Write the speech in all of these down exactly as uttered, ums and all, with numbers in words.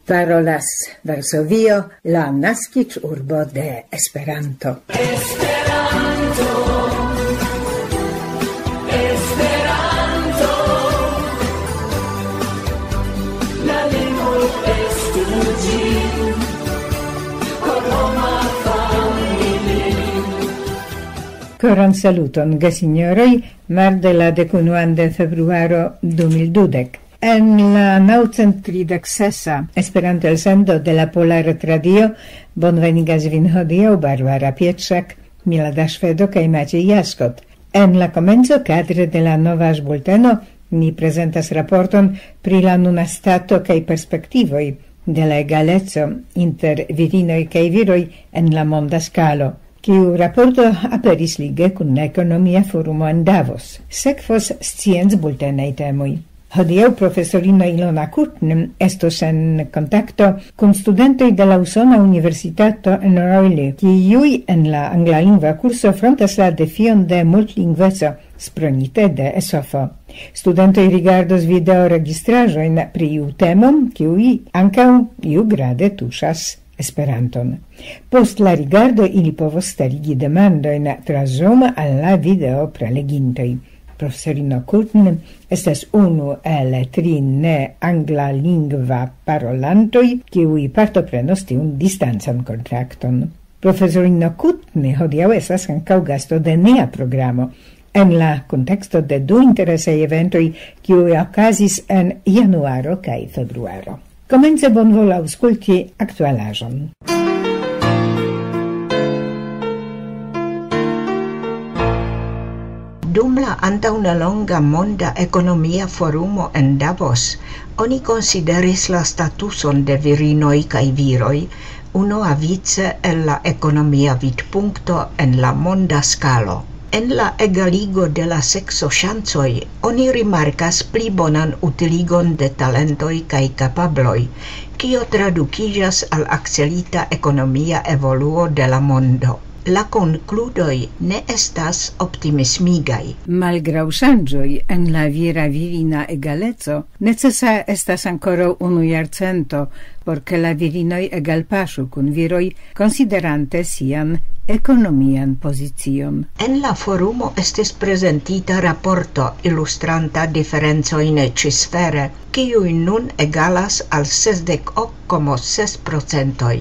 Parolas Varsovio, la naskiĝurbo de Esperanto. Koran saluton, gesinjoroj, marde la dek-unuan de februaro du mil dudek. En la naŭcent tridek sesa Esperanto-elsendo de la Pola Retradio bonvenigas vin hodiaŭ Barbara Pietrzak, Milada Ŝvedo kaj Maciej Jaskot. En la komenco, kadre de la nova bulteno, ni prezentas raporton pri la nuna stato kaj perspektivoj de la egaleco inter virinoj kaj viroj en la monda skalo, kiu raporto aperis lige kun la Ekonomia Forumo en Davos. Sekvos sciencbultenaj temoj. Hodiaŭ profesorino Ilona Kutn estos en kontakto kun studentoj de la Usona Universitato en Raleigh, kiuj en la anglalingva kurso frontas la defion de multlingveco, spronite de esofo. Studentoj rigardos videoregistraĵojn pri iu temo, kiuj ankaŭ iugrade tuŝas Esperanton. Post la rigardo ili povos starigi demandojn tra Zoom al la video prelegintoj. Profesorino Kutn estas unu el tri ne anglalingva parolantoj, kiuj partoprenos tiun distancan kontrakton. Profesorino Kutn hodiaŭ estas ankaŭ gasto de nia programo, en la konteksto de du interesaj eventoj, kiuj okazis en januaro kaj februaro. Komence bonvolu aŭskulti aktualaĵon. Dum la antaŭnelonga Monda Ekonomia Forumo en Davos, oni konsideris la statuson de virinoj kaj viroj unuavice el la ekonomia vidpunkto en la monda skalo. En la egaligo de la sekso ŝancoj oni rimarkas pli bonan utiligon de talentoj kaj kapabloj, kio tradukiĝas al akcelita ekonomia evoluo de la mondo. La konkludoj ne estas optimismigaj. Malgraŭ ŝanĝoj en la vira virina egaleco, necesa estas ankoraŭ unu jarcento, por ke la virinoj egalpaŝu kun viroj, konsiderante sian ekonomian pozicion. En la forumo estis prezentita raporto ilustranta diferencojn ĉisfere, kiuj nun egalas al sesdek ok komo ses procentoj.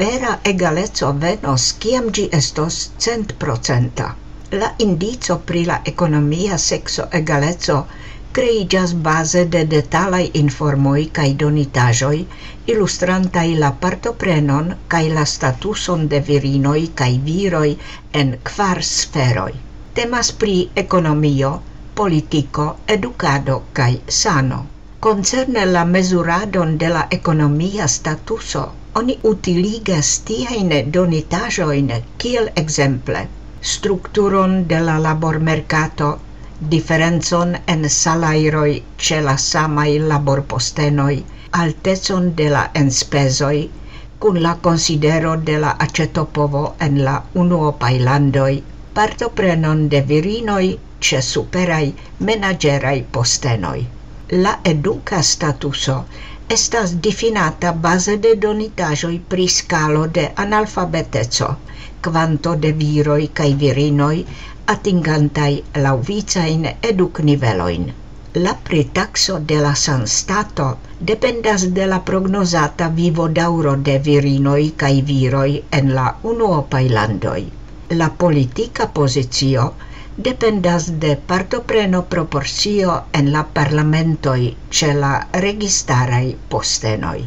Vera egaleco venos, kiam ĝi estos cent procenta. La indico pri la ekonomia sekso egaleco kreiĝas baze de detalaj informoj kaj donitaĵoj, ilustrantaj la partoprenon kaj la statuson de virinoj kaj viroj en kvar sferoj. Temas pri ekonomio, politiko, edukado kaj sano. Koncerne la mezuradon de la ekonomia statuso, oni utiligas tiajn donitaĵojn kiel ekzemple strukturon de la labormerkato, diferencon en salajroj ĉe la samaj laborpostenoj, altecon de la enspezoj, kun la konsidero de la aĉetopovo en la unuopaj landoj, partoprenon de virinoj ĉe superaj menaĝeraj postenoj. La eduka statuso estas difinata baze de donitaĵoj pri skalo de analfabeteco, kvanto de viroj kaj virinoj atingantaj laŭvicajn eduknivelojn. La pritakso de la sanstato dependas de la prognozata vivodaŭro de virinoj kaj viroj en la unuopaj landoj. La politika pozicio dependas de partopreno proporcio en la parlamentoj ĉe la registaraj postenoj.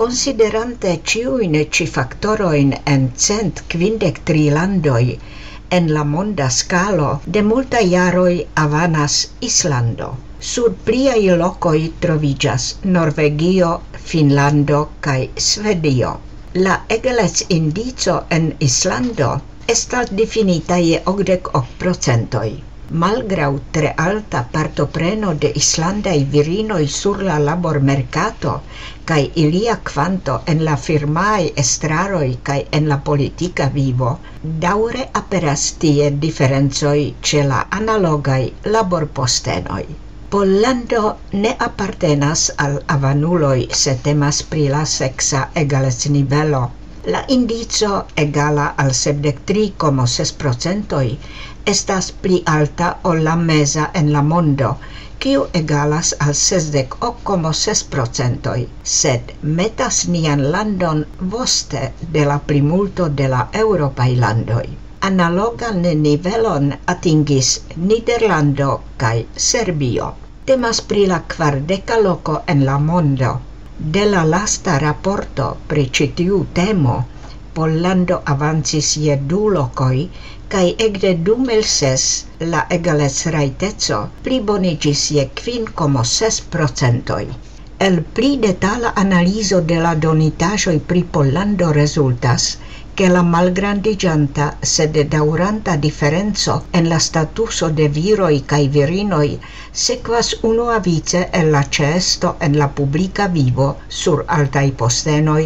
Konsiderante ĉiujn ĉi faktorojn en cent kvindek tri landoj, en la monda skalo de multaj jaroj avanas Islando. Sur pliaj lokoj troviĝas Norvegio, Finnlando kaj Svedio. La egalec-indico en Islando estas difinita je okdek ok procentoj. Malgraŭ tre alta partopreno de islandaj virinoj sur la labormerkato kaj ilia kvanto en la firmaaj estraroj kaj en la politika vivo, daŭre aperas tie diferencoj ĉe la analogaj laborpostenoj. Pollando ne apartenas al avanuloj, se temas pri la seksa egalecnivelo. La indico egala al sepdek tri komo ses procentoj estas pli alta ol la meza en la mondo, kiu egalas al sesdek ok komo ses procentoj, sed metas nian landon voste de la plimulto de la eŭropaj landoj. Analogan nivelon atingis Nederlando kaj Serbio. Temas pri la kvardeka loko en la mondo. De la lasta raporto pri ĉi tiu temo, Pollando avancis je du lokoj, kaj ekde du mil ses la egalecrajteco pliboniĝis je kvin komo ses procentoj. El pli detala analizo de la donitaĵoj pri Pollando rezultas, ke la malgrandiĝanta, sed daŭranta diferenco en la statuso de viroj kaj virinoj sekvas unuavice el la ĉeesto en la publika vivo sur altaj postenoj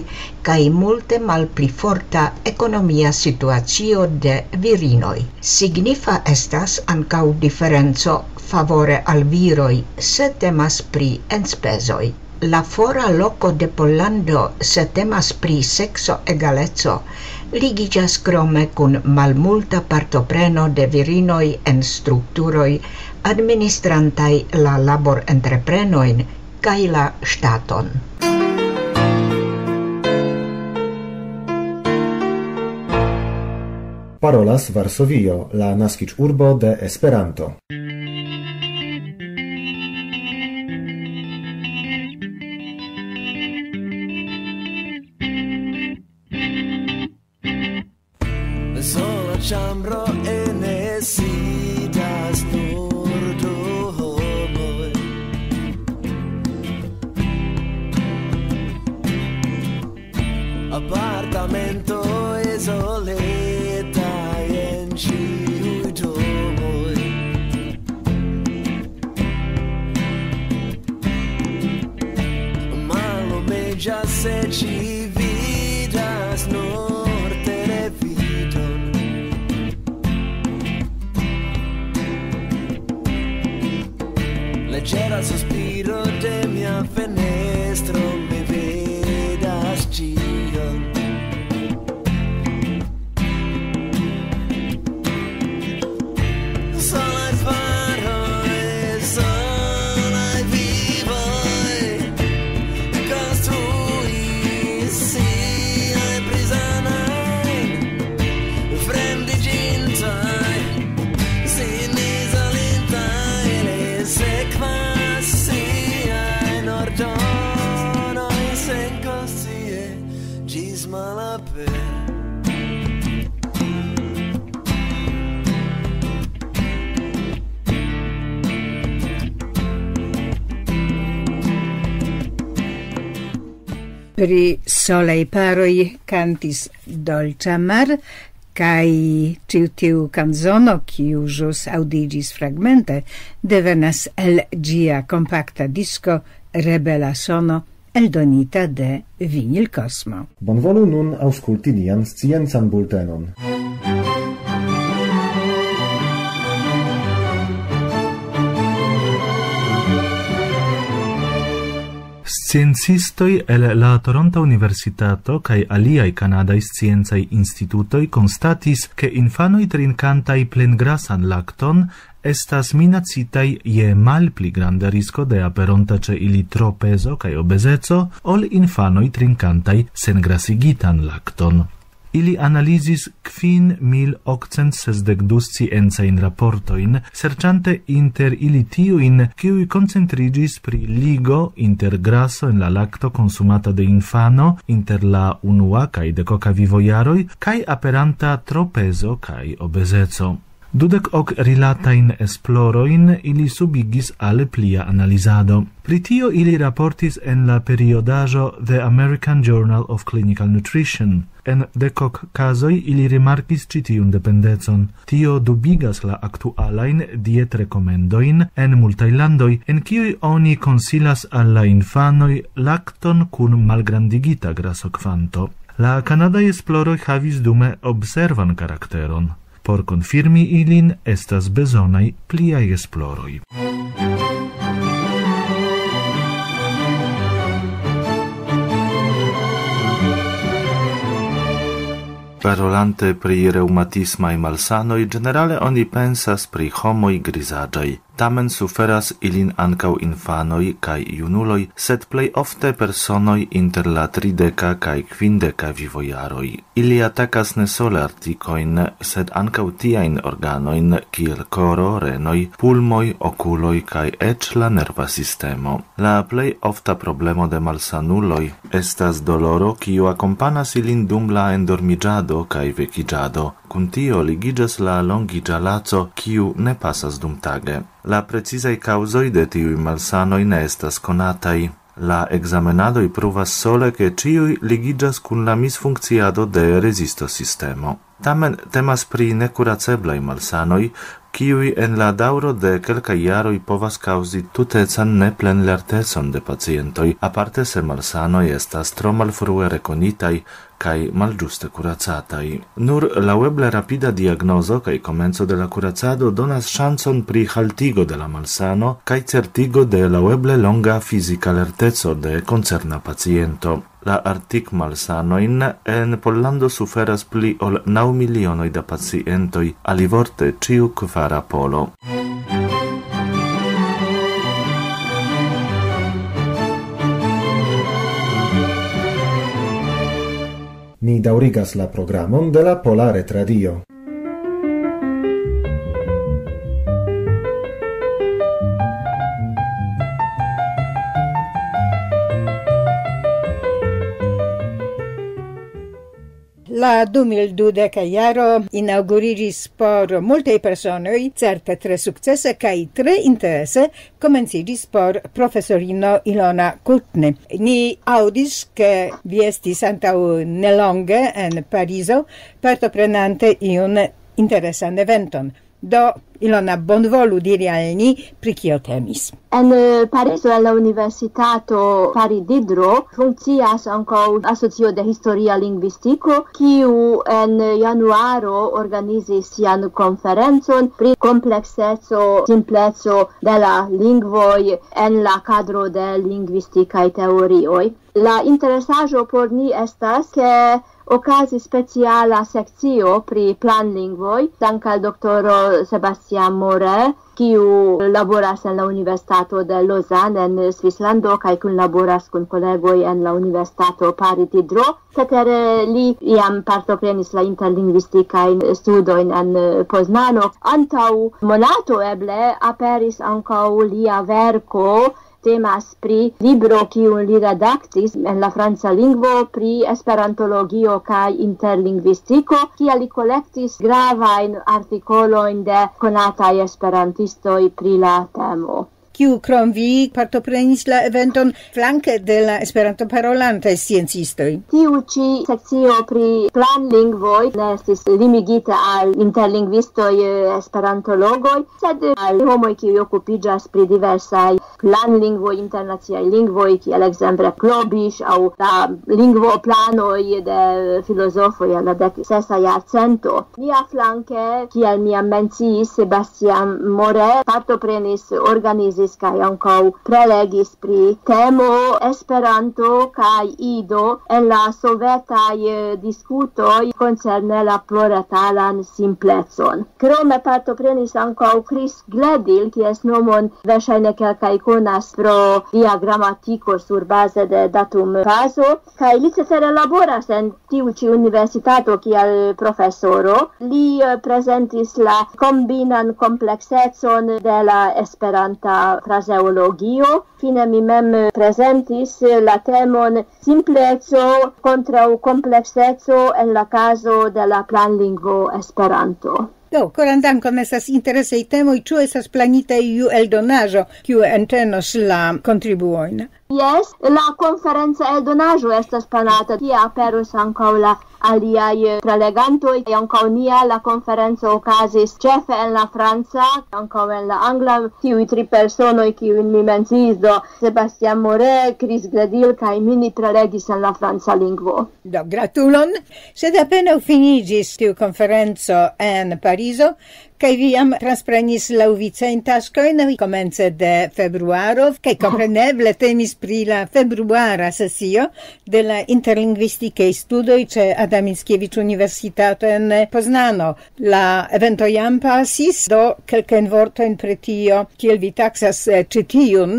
kaj multe malpli forta ekonomia situacio de virinoj. Signifa estas ankaŭ diferenco favore al viroj, se temas pri enspezoj. La fora loko de Pollando, se temas pri sekso egaleco, ligiĝas krome kun malmulta partopreno de virinoj en strukturoj administrantaj la laborentreprenojn kaj la ŝtaton. Parolas Varsovio, la naskiĝurbo de Esperanto. Sola ĉambro ene sidas nur du homoj. Apartamento izolita en ĉiuj domoj. Mallumiĝas, sed ŝi vidas nur televidon. Leĝera suspiro de mia fenestro, mi vidas ĉion. Solaj faroj, solaj vivoj konstruis siajn prizonojn. Fremdiĝintaj, sin izolintaj, ili sekvas siajn ordonojn senkonscie ĝis malaper. Pri solaj paroj kantis Dolĉa Mar, kaj ĉiu tiu kanzono, kiu ĵus aŭdiĝis fragmente, devenas el ĝia kompakta disko Rebela Sono, eldonita de Vinil Cosmo. Bonvolu nun aŭskulti nian sciencan bultenon. Sciencistoj el la Toronta Universitato kaj aliaj kanadaj sciencaj institutoj konstatis, ke infanoj trinkantaj plengrasan lakton estas minacitaj je malpli granda risko de aperonta ĉe ili tropezo kaj obezeco ol infanoj trinkantaj sengrasigitan lakton. Ili analizis kvin mil okcent sesdek du sciencajn raportojn, serĉante inter ili tiujn, kiuj koncentriĝis pri ligo inter graso en la lakto konsumata de infano inter la unua kaj dekoka vivojaroj, kaj aperanta tropezo kaj obezeco. Dudek ok rilatajn esplorojn ili subigis al plia analizado. Pri tio ili raportis en la periodaĵo The American Journal of Clinical Nutrition. En dekok kazoj ili rimarkis ĉi tiun dependecon. Tio dubigas la aktualajn dietrekomendojn en multaj landoj, en kiuj oni konsilas al la infanoj lakton kun malgrandigita grasokvanto. La kanadaj esploroj havis dume observan karakteron. Por konfirmi ilin estas bezonaj pliaj esploroj. Parolante pri reŭmatismaj malsanoj, ĝenerale oni pensas pri homoj grizaĝaj. Tamen suferas ilin ankaŭ infanoj kaj junuloj, sed plej ofte personoj inter la trideka kaj kvindeka vivojaroj. Ili atakas ne sole artikojn, sed ankaŭ tiajn organojn kiel koro, renoj, pulmoj, okuloj kaj eĉ la nerva sistemo. La plej ofta problemo de malsanuloj estas doloro, kiu akompanas ilin dum la endormiĝado kaj vekiĝado. Kun tio ligiĝas la longiĝa laco, kiu ne pasas dumtage. La precizaj kaŭzoj de tiuj malsanoj ne estas konataj. La ekzamenadoj pruvas sole, ke ĉiuj ligiĝas kun la misfunkciado de rezisto sistemo. Tamen temas pri nekuraceblaj malsanoj, kiuj en la daŭro de kelkaj jaroj povas kaŭzi tutecan neplenlertecon de pacientoj, aparte se malsanoj estas tro malfrue rekonitaj kaj malĝuste kuracataj. Nur laŭeble rapida diagnozo kaj komenco de la kuracado donas ŝancon pri haltigo de la malsano kaj certigo de laŭeble longa fizika lerteco de koncerna paciento. La artikmalsanojn en Pollando suferas pli ol naŭ milionoj da pacientoj, alivorte ĉiu kvara polo. Ni daŭrigas la programon de la Pola Retradio. La du mil dudek jaro inaŭguriĝis por multaj personoj, certe tre sukcese kaj tre interese, komenciĝis por profesorino Ilona Kutny. Ni aŭdis, ke vi estis antaŭ nelonge en Parizo, partoprenante iun interesan eventon. Do, Ilona, bonvolu diri al ni, pri kio temis. En eh, Parizo, en la Universitato Paris Diderot, funkcias ankaŭ asocio de historia lingvistiko, kiu en januaro organizis sian konferencon pri komplekseco, simpleco de la lingvoj en la kadro de lingvistikaj teorioj. La interesaĵo por ni estas, ke okazis speciala sekcio pri planlingvoj, dank al doktoro Sebastian More, kiu laboras en la Universitato de Lausanne en Svislando kaj kunlaboras kun kolegoj en la Universitato Paris Diderot. Cetere li iam partoprenis la interlingvistikajn studojn en Poznano. Antaŭ monato eble aperis ankaŭ lia verko, temas pri libro, kiun li redaktis en la franca lingvo pri esperantologio kaj interlingvistiko, kie li kolektis gravajn artikolojn de konataj esperantistoj pri la temo. Kiu krom vi partoprenis la eventon flanke de la Esperanto-parolantaj sciencistoj? Tiu ĉi sekcio pri planlingvoj ne estis limigita al interlingvistoj, eh, esperantologoj, sed al homoj, kiuj okupiĝas pri diversaj planlingvoj, internaciaj lingvoj, kiel ekzemple Klobiŝ aŭ la lingvoplanoj de filozofoj en la dek sesa jarcento. Mia flanke, kiel mi jam menciis, Sebastian More partoprenis, organizis kaj ankaŭ prelegis pri temo Esperanto kaj ido en la sovetaj, eh, diskutoj koncerne la pluretalan simplecon. Krome partoprenis ankaŭ Chris Gledil, kies nomon verŝajne kelkaj konas pro lia gramatiko surbaze de datumbazo, kaj li cetere laboras en tiu ĉi universitato kiel profesoro. Li, eh, prezentis la kombinan kompleksecon de la esperanta frazeologio. Fine mi mem prezentis la temon simpleco kontraŭ komplekseco en la kazo de la planlingvo Esperanto. Do, koran dankon, estas interesaj temoj. Ĉu estas planita iu eldonaĵo, kiu entenos la kontribuojn? Jes, la konferenca eldonaĵo estas planata, tie aperos ankaŭ la aliaj, eh, prelegantoj. Ankaŭ nia la konferenco okazis ĉefe en la franca, ankaŭ en la angla. Tiuj tri personoj, kiujn mi menciis, do Sebastian More, Chris Gledil kaj mi, ni prelegis en la franca lingvo. Do, gratulon. Sed apenaŭ finiĝis tiu konferenco en Parizo, Kaj vi jam transprenis laŭvicajn taskojn komence de februaro, kaj kompreneble temis pri la februara sesio de la interlingvistikaj studoj ĉe Adam Mickiewicz Universitato en Poznano. La evento jam pasis, do kelkajn vortojn pri tio, kiel vi taksas, eh, ĉi tiun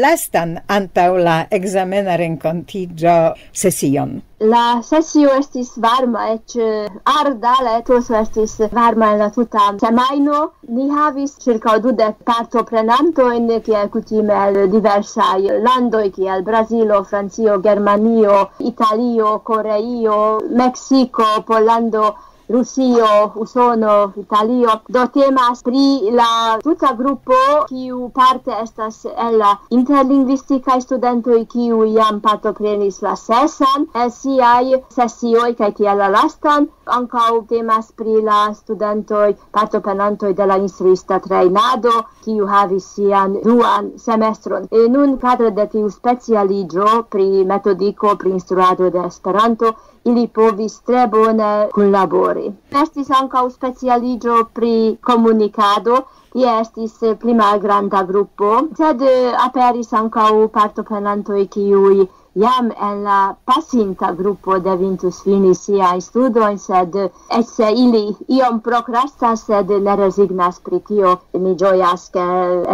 lastan antaŭ la ekzamena renkontiĝo sesion. La sesio estis varma, eĉ, eh, arda, la etoso estis varma en la tuta semajno. Ni havis ĉirkaŭ dudek partoprenantojn, kiel kutime el diversaj landoj, kiel Brazilo, Francio, Germanio, Italio, Koreio, Meksiko, Pollando, Rusio, Usono, Italio. Do temas pri la tuta grupo, kiu parte estas el la interlingvistikaj studentoj, kiu jam partoprenis la sesan el siaj sesioj, kaj tiel la lastan. Ankaŭ temas pri la studentoj, partoprenantoj de la instruista trejnado, kiu havis sian duan semestron. E nun kadre de tiu specialiĝo pri metodiko, pri instruado de Esperanto, ili povis tre bone kunlabori. Estis ankaŭ specialiĝo pri komunikado, tie estis pli malgranda grupo, sed, eh, aperis ankaŭ partoprenantoj, kiuj jam en la pasinta grupo devintus fini siajn studojn, sed eĉ se ili iom prokrastas, sed ne rezignas pri tio. Mi ĝojas, ke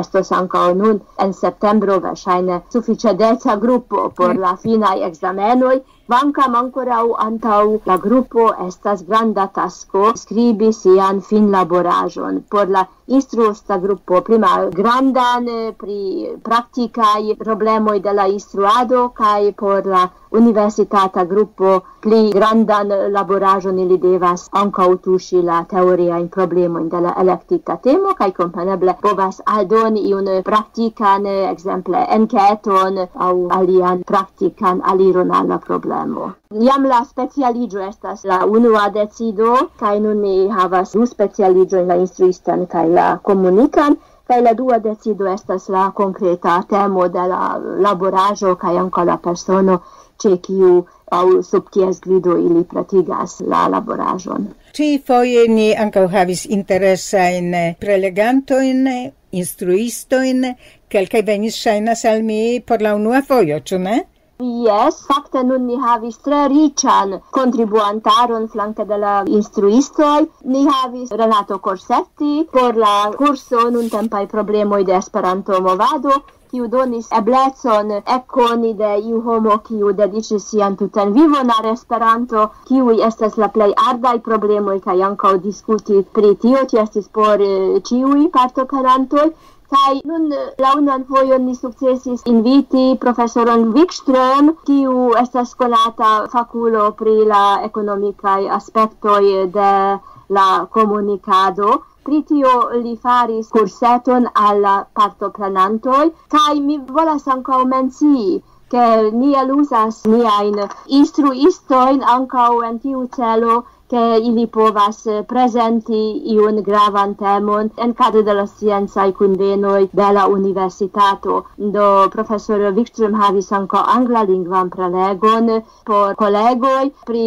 estos ankaŭ nun en septembro verŝajne sufiĉe deca grupo por la finaj ekzamenoj. Kvankam ankoraŭ antaŭ la grupo estas granda tasko skribi sian finlaboraĵon por la instruista grupo, pri malgrandan, eh, pri praktikaj problemoj de la instruado, kaj por la universitata grupo pli grandan laboraĵon ili devas ankaŭ tuŝi la teoriajn problemojn de la elektita temo, kaj kompreneble povas aldoni iun praktikan, eh, ekzemple enketon aŭ alian praktikan aliron al la problemo. Jam la specialiĝo estas la unua decido, kaj nun ni havas du specialiĝojn, la instruistan kaj la komunikan, kaj la dua decido estas la konkreta temo de la laboraĵo kaj ankaŭ la persono, ĉe kiu aŭ sub kies gvido ili pretigas la laboraĵon. Ĉi foje ni ankaŭ havis interesajn prelegantojn, instruistojn, kelkaj venis, ŝajnas al mi, por la unua fojo, ĉu ne? Jes, fakte nun ni havis tre riĉan kontribuantaron flanke de la instruistoj. Ni havis Renato Corsetti por la kurso Nuntempaj problemoj de Esperanto-movado, kiu donis eblecon ekkoni de iu homo, kiu dediĉis sian tutan vivon al Esperanto, kiuj estas la plej ardaj problemoj, kaj ankaŭ diskuti pri tio. Tio estis por, eh, ĉiuj partoprenantoj. Kaj nun, eh, la unuan fojon ni sukcesis inviti profesoron Wikström, kiu estas konata fakulo pri la ekonomikaj aspektoj de la komunikado. Pri tio li faris kurseton al la partoprenantoj, kaj mi volas ankaŭ mencii, ke ni eluzas niajn instruistojn ankaŭ en tiu celo, ke ili povas, eh, prezenti iun gravan temon en kadro de la sciencaj kunvenoj de la universitato. Do profesoro Wikström havis ankaŭ anglalingvan prelegon por kolegoj pri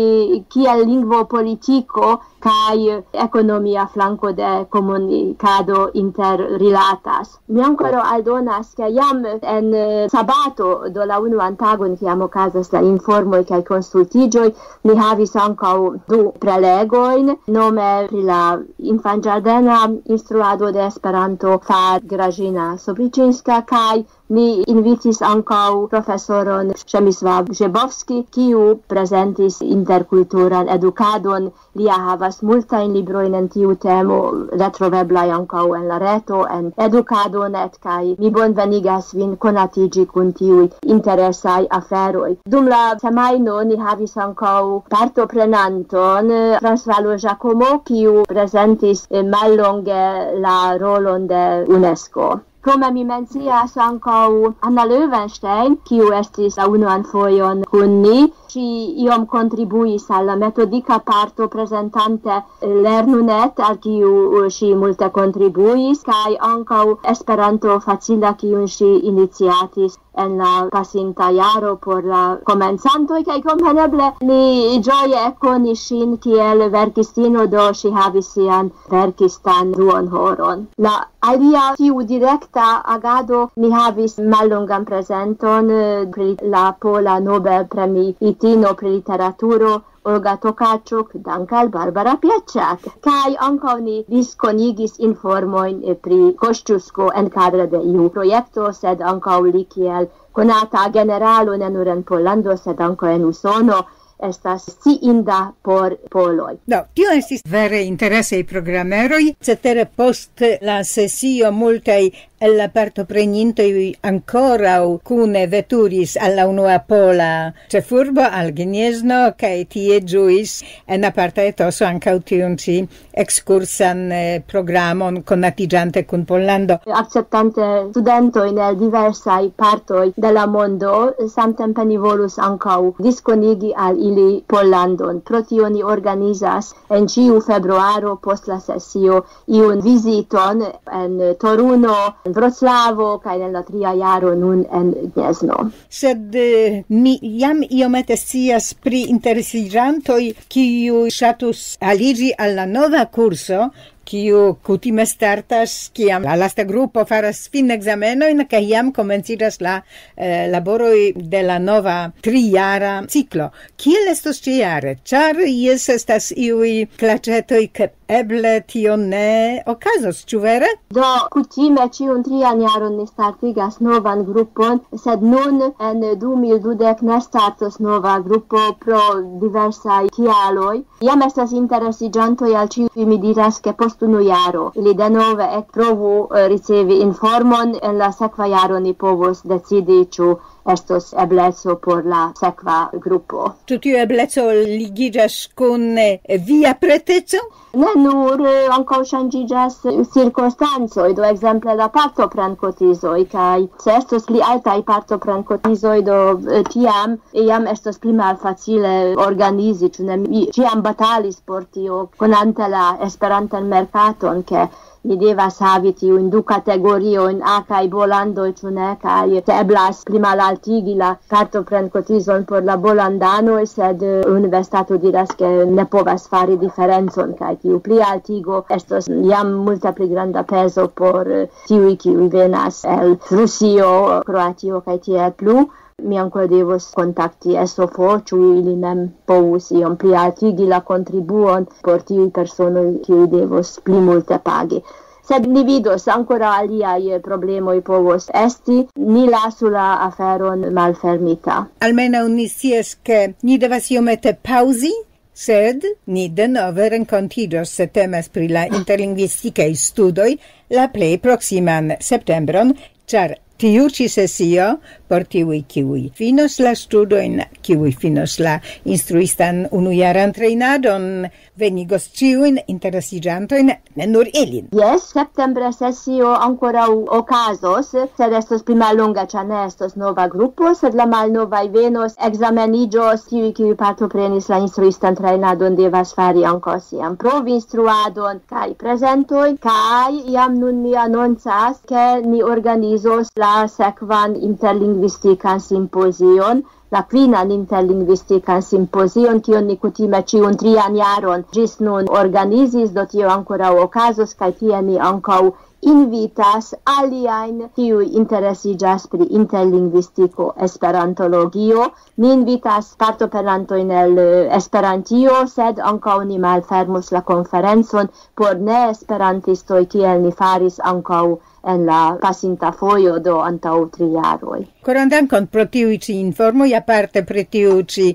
kiel lingvopolitiko kaj ekonomia flanko de komunikado interrilatas. Mi ankoraŭ aldonas, ke jam en, eh, sabato, do la unuan tagon, kiam okazas la informoj kaj konsultiĝoj, ni havis ankaŭ du prelegojn, nome pri la infanĝardena instruado de Esperanto far Grażyna Sobriczynska, kaj ni invitis ankaŭ profesoron Przemysław Grzebowski, kiu prezentis interkulturan edukadon. Lia havas multajn librojn en tiu temo, retroveblaj ankaŭ en la reto, en edukado net, kaj mi bonvenigas vin konatiĝi kun tiuj interesaj aferoj. Dum la semajno ni havis ankaŭ partoprenanton, eh, François Giacomo, kiu prezentis, eh, mallonge la rolon de UNESCO. Krome mi mencias ankaŭ Anna Löwenstein, kiu estis la unuan fojon kun ni. Ŝi iom kontribuis al la metodika parto, prezentante Lernu net, al kiu ŝi multe kontribuis, kaj ankaŭ Esperanto Facila, kiun ŝi iniciatis en la pasinta jaro por la komencantoj, kaj kompreneble ni ĝoje ekkonis ŝin kiel verkistino, do ŝi havis sian verkistan duonhoron. La alia tiu direkta agado, ni havis mallongan prezenton, eh, pri la pola Nobel-premiitino pri literaturo, Olga Tokarczuk, dank' al Barbara Piaczak. Kaj ankaŭ ni diskonigis informojn, eh, pri Kościuszko en kadre de iu projekto, sed ankaŭ li kiel konata generalo ne nur en Pollando, sed ankaŭ en Usono estas sciinda por poloj. Do, tio estis vere interesaj programeroj. Cetere post la sesio multaj el la partoprenintoj ankoraŭ kune veturis al la unua pola ĉefurbo, al Gniezno, kaj tie ĝuis en aparta etoso ankaŭ tiun ĉi ekskursan, eh, programon, konatiĝante kun Pollando. Akceptante studentojn el diversaj partoj de la mondo, samtempe ni volus ankaŭ diskonigi al ili Pollandon. Pro tio ni organizas en ĉiu februaro post la sesio iun viziton en Toruno, en Vroclavo kaj en la tria jaro nun en Gniezno. Sed, eh, mi jam iomete scias pri interesiĝantoj, kiu ŝatus aliĝi al la nova kurso, kiu kutime startas, kiam la lasta grupo faras finekzamenojn, kaj jam komenciĝas la, eh, laboroj de la nova trijara ciklo. Kiel estos ĉiare? Ĉar jes estas iuj klaĉetoj, ke eble tio ne okazos, ĉu vere? Do, kutime ĉiun trian jaron ni startigas novan grupon, sed nun en du mil dudek ne startos nova grupo pro diversaj kialoj. Jam estas interesiĝantoj, al ĉiuj mi diras, ke post unu jaro ili denove ekprovu, eh, ricevi informon, en la sekva jaro ni povos decidi, ĉu estos ebleco por la sekva grupo. Ĉu tiu ebleco ligiĝas kun, eh, via preteco? Ne nur, eh, ankaŭ ŝanĝiĝas cirkonstancoj, do ekzemple la partoprenkotizoj, kaj se estos pli altaj partoprenkotizoj, do, eh, tiam jam estos pli malfacile organizi, ĉu ne? Mi ĉiam batalis por tio, konante la Esperantan merkaton, ke ni devas havi tiujn du kategoriojn, A kaj B-landoj, ĉu ne, kaj se eblas pli malaltigi la partoprenkotizon por la B-landanoj, sed, eh, universitato diras, ke ne povas fari diferencon, kaj tiu pli altigo estos jam multe pli granda pezo por, eh, tiuj, kiuj venas el Rusio, Kroatio kaj tiel plu. Mi ankoraŭ devos kontakti S O F, ĉu ili mem povus iom pli altigi la kontribuon por tiuj personoj, kiuj devos pli multe pagi. Sed ni vidos, ankoraŭ aliaj problemoj povos esti. Ni lasu la aferon malfermita. Almenaŭ ni scias, ke ni devas iomete paŭzi, sed ni denove renkontiĝos, se temas pri la interlingvistikaj studoj, la plej proksiman septembron, ĉar tiu ĉi sesio por tiuj, kiuj finos la studojn, kiuj finos la instruistan unujaran trejnadon, venigos ĉiujn interesiĝantojn, ne nur ilin. Jes, septembre sesio ankoraŭ okazos, sed estos pli mallonga, ĉar ne estos nova grupo, sed la malnovaj venos, ekzameniĝos, tiuj, kiuj partoprenis la instruistan trejnadon, devas fari ankaŭ sian provinstruadon kaj prezentojn, kaj jam nun mi anoncas, ke ni organizos la sekvan interlingvistikan simpozion, la kvinan interlingvistikan simpozion, kion ni kutime ĉiun trian jaron ĝis nun organizis, do tio ankoraŭ okazos, kaj tie ni ankaŭ invitas aliajn, kiuj interesiĝas pri interlingvistiko, esperantologio. Ni invitas partoprenantojn el, eh, Esperantio, sed ankaŭ ni malfermos la konferencon por neesperantistoj, kiel ni faris ankaŭ en la pasinta fojo, do antaŭ tri jaroj. Koran dankon pro tiuj ĉi informoj, aparte pri tiu ĉi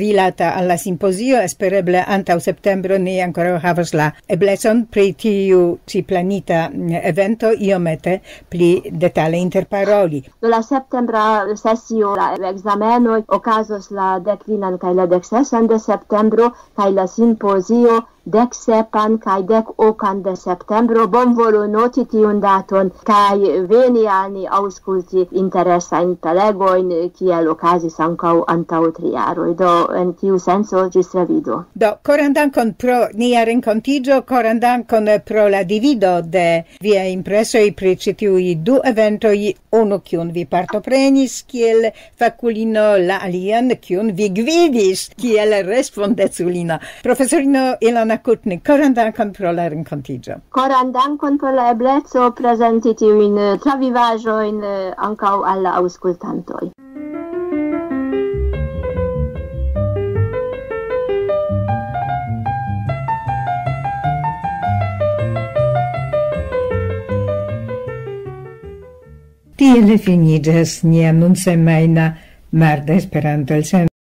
rilata al la simpozio. Espereble antaŭ septembro ni ankoraŭ havos la eblecon pri tiu ĉi planita, mm, evento iomete pli detale interparoli. Do la septembra sesio, la ekzamenoj okazos la dekfinan kaj la deksesan de septembro, kaj la simpozio dek sepan kaj dek okan de septembro. Bonvolu noti tiun daton kaj veni al ni aŭskulti interesajn prelegojn, kiel okazis ankaŭ antaŭ tri jaroj. Do, en tiu senco, ĝis revido. Do, koran dankon pro nia renkontiĝo, koran dankon pro la divido de viaj impresoj pri ĉi tiuj du eventoj, unu kiun vi partoprenis kiel fakulino, la alian kiun vi gvidis kiel respondeculino. Profesorino Ilona Kutnik, koran dankon pro la renkontiĝo. Koran dankon pro la ebleco prezenti tiujn, eh, travivaĵojn, eh, ankaŭ al la aŭskultantoj. Tiel finiĝas nia nunsemajna marda Esperanto-elsendo.